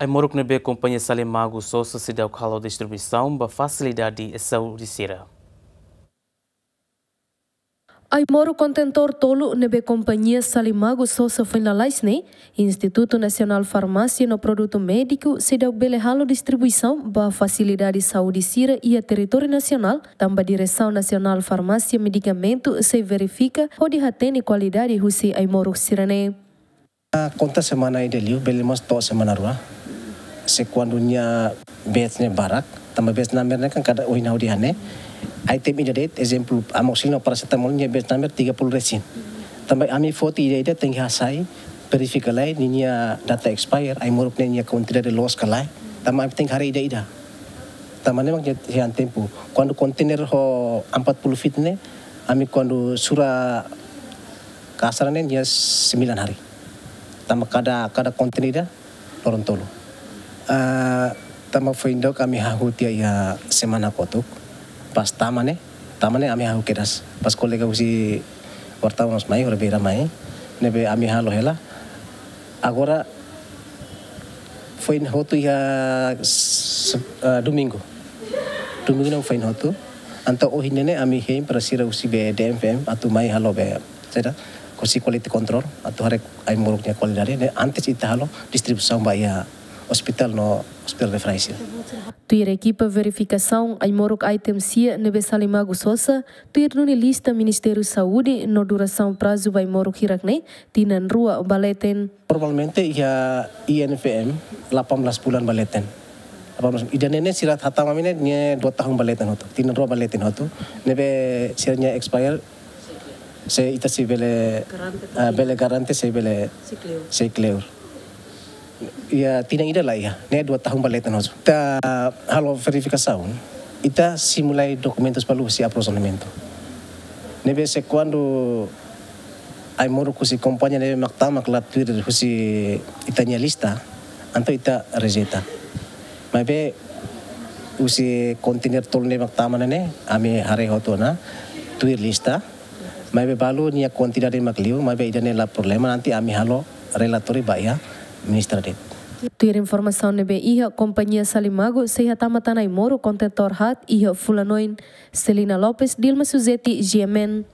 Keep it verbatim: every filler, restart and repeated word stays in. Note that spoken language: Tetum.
Ai-moruk ne'ebé kompañia Salimagu Sosa seidauk halo distribuisaun ba fasilidade saúde sira. Ai-moruk kontentór tolu ne'ebé kompañia Salimagu Sosa foin lalais ne'e, Institutu Nasionál Farmásia no Produtu Médiku seidauk bele halo distribuisaun ba fasilidade saúde sira iha territóriu nasionál, tanba Diresaun Nasionál Farmásia Medikamentu sei verifika hodi hatene kualidade husi ai-moruk sira-ne'e. Ah, konta semana ida liu, bele mós to'o semana rua. Se kuandu nia batch ne'e barak, tanba batch number ne'e kan kada ohin ha'u dehan ne'e. Item ida de'it, ezemplu, amoxicilina ou paracetamol nia batch number tiga puluh resin. Tanba ami foti ida-ida tenke hasai, verifika lai, ninia data expire, ai-moruk ne'e nia kuantidade loos ka lae. Tanba ami tenke haree ida-ida. Tanba ne'e mak nia hetan tempu. Kuandu kontainer ho empat puluh feet ne'e, ami kuandu sura kasar ne'e nia sembilan hari. Tanba kada, kada kontainer ida loron tolu. Ah, tanba foin dook ami hahú tiha iha semana kotuk. Pas tama ne'e, tama ne'e ami hahú kedas. Pas kolega husi wartawan mós mai, horibainrua mai. Ne'ebé ami halo hela. Agora foin hotu iha se-, ah, domingu. Domingu ne'e foin hotu. Entaun ohin ne'e ami hein para sira husi be D M F M atu mai halo be, saida, husi quality control, atu haree ai-moruk nia kualidade ne'e antes ita halo distribuisaun ba iha ospitál no ospitál referénsia. Tuir ekipa verifikasaun ai-moruk item sia ne'ebé Salimagu Sosa, tuir duni lista Ministériu Saúde no durasaun prazu ba ai-moruk hirak ne'e, tinan rua ba leten. Normalmente iha I N F M delapan belas bulan ba leten. Delapan belas, ida-ne'e ne'e sira hatama ami ne'e, ne'e dua tahun ba leten hotu. Tinan rua ba leten hotu. Ne'ebé sira-nia expire, se ita sei bele, ah, bele garante sei bele, sei kleur. Iha tinan ida la iha, ne'e dua tahun ba leten hotu. Ita halo verifikasaun, ita simu lai dokumentus balu husi aprovizionamentu. Ne'ebé se kuandu ai-moruk husi kompañia ne'ebé mak tama la tuir husi ita-nia lista, entaun ita rejeita. Maibé husi kontainer tolu ne'ebé mak tama ne'e ne'e, ami haree hotu ona tuir lista. Maibé balu nia kuantidade mak liu, maibé ida-ne'e la problema, nanti ami halo relatóriu ba iha ministra de'it. Tuir informasaun ne'ebé iha, kompañia Salimagu sei hatama tan ai-moruk kontentór haat iha fulan oin. Selina Lopes, Dilma Suzeti, G M N.